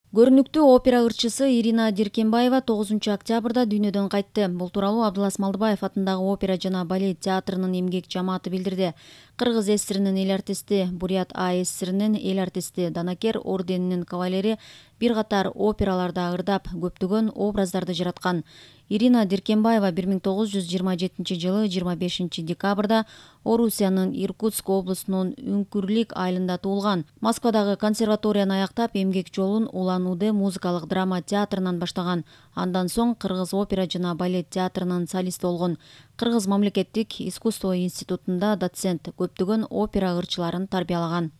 Көрүнүктүү опера ырчысы Ирина Диркенбаева 9 октябрда дүйнөдөн кайтты. Бул тууралуу Абдылас Малдыбаев атындагы опера жана балет театрынын эмгек жамааты билдирди. Кыргыз ССРинин эл артисти, Бурят АССРинин эл артисти, Данакер орденинин кавалери бир катар операларда ырдап, көптөгөн образдарды жараткан. Ирина Диркенбаева 1927 жылы 25 декабрда Орусиянын Иркутск облусунун Үңкүрлүк айылында туулган. Москвадагы консерваторияны аяктап, эмгек жолун Улан Удэ музыкалык драма театрынан баштаган. Андан соң Кыргыз опера жана балет театрынын солисти болгон. Кыргыз мамлекеттик искусство институтунда доцент, көптөгөн опера ырчыларын тарбиялаган.